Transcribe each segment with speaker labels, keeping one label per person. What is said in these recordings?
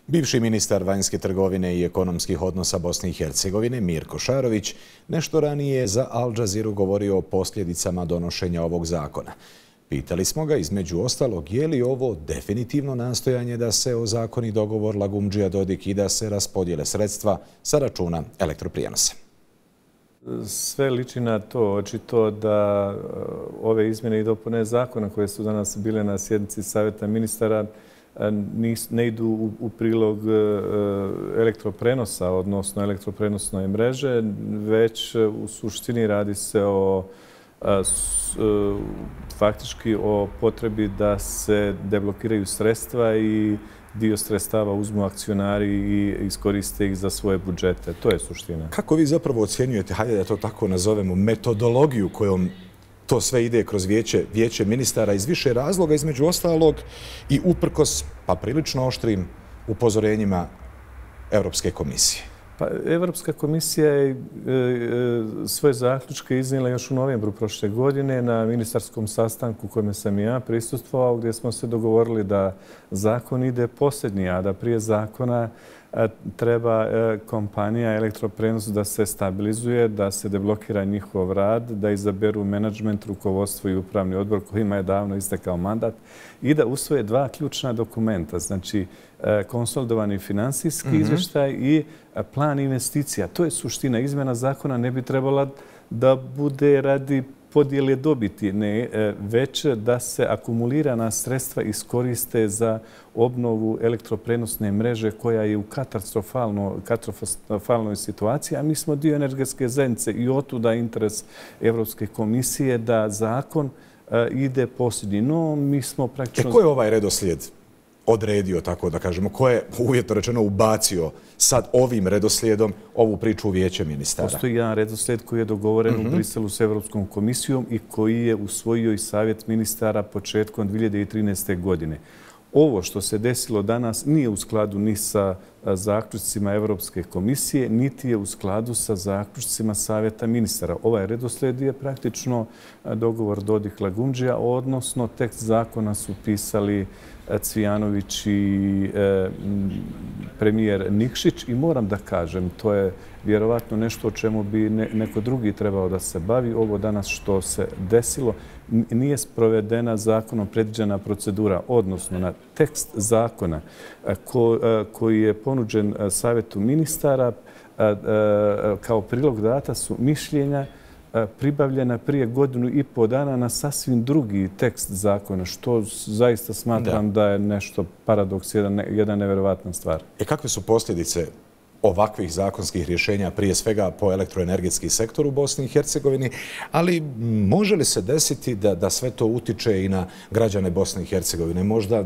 Speaker 1: Bivši ministar vanjske trgovine i ekonomskih odnosa Bosne i Hercegovine Mirko Šarović nešto ranije je za Al Jazeeru govorio o posljedicama donošenja ovog zakona. Pitali smo ga između ostalog je li ovo definitivno nastojanje da se ozakoni dogovor Lagumdžija Dodik i da se raspodijele sredstva sa računa elektroprijenosa.
Speaker 2: Sve liči na to, očito da ove izmjene i dopune zakona koje su danas bile na sjednici Savjeta ministara ne idu u prilog elektroprenosa, odnosno elektroprenosne mreže, već u suštini radi se o faktički o potrebi da se deblokiraju sredstva i dio sredstava uzmu akcionari i iskoriste ih za svoje budžete. To je suština.
Speaker 1: Kako vi zapravo ocjenjujete, hajde da to tako nazovemo, metodologiju kojom to sve ide kroz vijeće ministara iz više razloga, između ostalog i uprkos pa prilično oštrim upozorenjima Europske komisije?
Speaker 2: Pa, Europska komisija je svoje zaključke iznijela još u novembru prošle godine na ministarskom sastanku kojome sam i ja prisustvovao, gdje smo se dogovorili da zakon ide posljednji, a da prije zakona treba kompanija Elektroprenos da se stabilizuje, da se deblokira njihov rad, da izaberu menadžment, rukovodstvo i upravni odbor kojima je davno istekao mandat i da usvoje dva ključna dokumenta, znači konsolidovani finansijski izvještaj i plan investicija. To je suština. Izmjena zakona ne bi trebala da bude radi podjele dobiti, ne, već da se akumulirana sredstva iskoriste za obnovu elektroprenosne mreže koja je u katastrofalnoj situaciji, a mi smo dio energetske zajednice i otuda interes Europske komisije da zakon ide posljednji. No, mi smo praktično...
Speaker 1: Ko je ovaj redoslijed odredio, tako da kažemo, ko je uvjetno rečeno ubacio sad ovim redoslijedom ovu priču u vijeće ministara?
Speaker 2: Postoji jedan redoslijed koji je dogovoren u Briselu s Europskom komisijom i koji je usvojio i Savjet ministara početkom 2013. godine. Ovo što se desilo danas nije u skladu ni sa zaključcima Europske komisije, niti je u skladu sa zaključcima Savjeta ministara. Ovaj redoslijed je praktično dogovor Dodik-Lagumdžija, odnosno tekst zakona su pisali Cvijanović i premijer Nikšić i moram da kažem, to je vjerovatno nešto o čemu bi neko drugi trebao da se bavi. Ovo danas što se desilo nije sprovedena zakonom predviđena procedura, odnosno na tekst zakona koji je ponuđen Savjetu ministara kao prilog data su mišljenja pribavljena prije 1,5 dana na sasvim drugi tekst zakona, što zaista smatram da je nešto paradoks, jedna nevjerovatna stvar.
Speaker 1: Kakve su posljedice ovakvih zakonskih rješenja, prije svega po elektroenergetski sektor u Bosni i Hercegovini, ali može li se desiti da sve to utiče i na građane Bosne i Hercegovine? Možda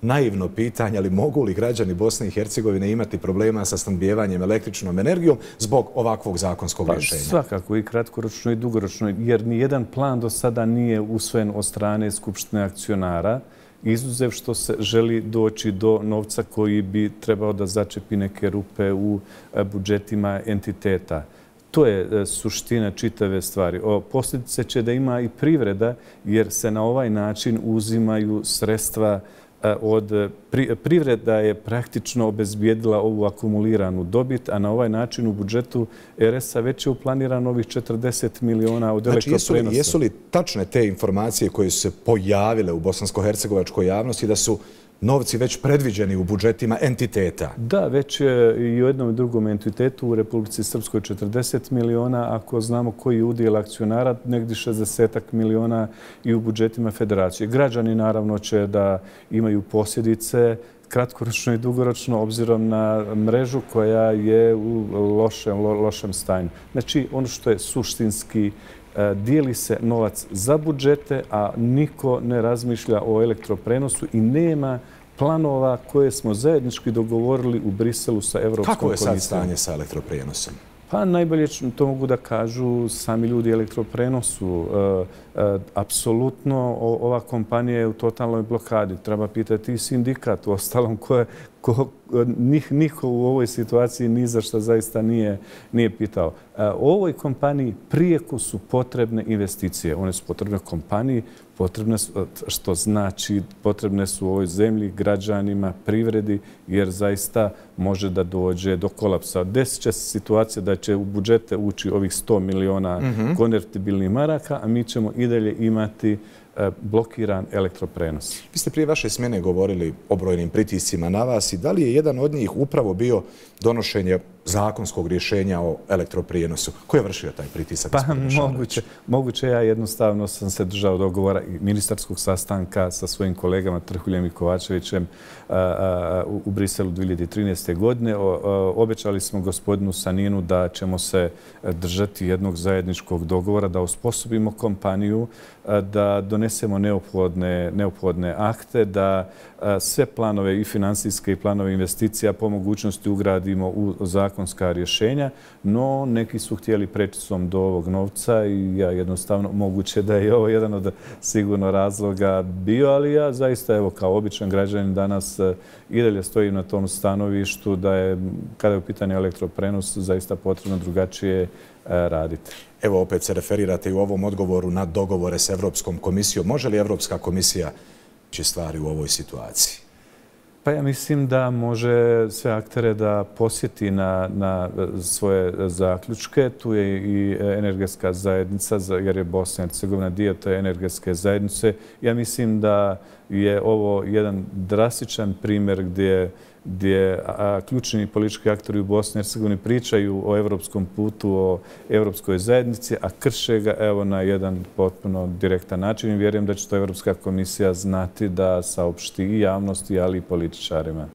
Speaker 1: naivno pitanje, ali mogu li građani Bosne i Hercegovine imati problema sa snabdijevanjem električnom energijom zbog ovakvog zakonskog rješenja?
Speaker 2: Svakako i kratkoročno i dugoročno, jer nijedan plan do sada nije usvojen od strane Skupštine akcionara, izuzev što se želi doći do novca koji bi trebao da začepi neke rupe u budžetima entiteta. To je suština čitave stvari. Posljedice će da ima i privreda, jer se na ovaj način uzimaju sredstva od privreda je praktično obezbijedila ovu akumuliranu dobit, a na ovaj način u budžetu RS-a već je uplanirano ovih 40 miliona od elektroprenosa.
Speaker 1: Znači, jesu li tačne te informacije koje su se pojavile u bosansko-hercegovačkoj javnosti da su novci već predviđeni u budžetima entiteta?
Speaker 2: Da, već je i u jednom i drugom entitetu u Republici Srpskoj 40 miliona, ako znamo koji je udjel akcionara, negdje 60 miliona i u budžetima federacije. Građani naravno će da imaju posljedice kratkoročno i dugoročno obzirom na mrežu koja je u lošem stanju. Znači, ono što je suštinski, dijeli se novac za budžete, a niko ne razmišlja o elektroprenosu i nema planova koje smo zajednički dogovorili u Briselu sa Evropskom komisijom.
Speaker 1: Kako je sad stanje sa elektroprenosom?
Speaker 2: Pa najbolje to mogu da kažu sami ljudi elektroprenosu. Apsolutno ova kompanija je u totalnoj blokadi. Treba pitati i sindikat u ostalom Niko u ovoj situaciji ni za što zaista nije pitao. Ovoj kompaniji prijeko su potrebne investicije. One su potrebne kompaniji, potrebne su, što znači potrebne su u ovoj zemlji, građanima, privredi, jer zaista može da dođe do kolapsa. Desit će se situacija da će u budžete ući ovih 100 miliona konvertibilnih maraka, a mi ćemo i dalje imati blokiran elektroprenos.
Speaker 1: Vi ste prije vaše smjene govorili o brojnim pritiscima na vas i da li je jedan od njih upravo bio donošenje zakonskog rješenja o elektroprijenosu? Ko je vršio taj pritisak?
Speaker 2: Pa moguće, ja jednostavno sam se držao dogovora i ministarskog sastanka sa svojim kolegama Trhuljem i Kovačevićem u Briselu 2013. godine. Obećali smo gospodinu Saninu da ćemo se držati jednog zajedničkog dogovora, da osposobimo kompaniju, da donesemo neophodne akte, da sve planove i financijske i planove investicija po mogućnosti ugradimo u zakonska rješenja, no neki su htjeli prečicom do ovog novca i ja jednostavno, moguće da je ovo jedan od sigurno razloga bio, ali ja zaista, evo, kao običan građanin danas i dalje stojim na tom stanovištu da je, kada je u pitanju elektroprenos, zaista potrebno drugačije raditi.
Speaker 1: Evo, opet se referirate i u ovom odgovoru na dogovore s Evropskom komisijom. Može li Evropska komisija će stvari u ovoj situaciji?
Speaker 2: Pa ja mislim da može sve aktere da posjeti na svoje zaključke. Tu je i energetska zajednica, jer je Bosna i Hercegovina dio te energetske zajednice. Ja mislim da je ovo jedan drastičan primjer gdje ključni politički aktori u Bosni i Hercegovini pričaju o evropskom putu, o evropskoj zajednici, a krše ga evo na jedan potpuno direktan način i vjerujem da će to Evropska komisija znati da saopšti i javnosti, ali i političarima.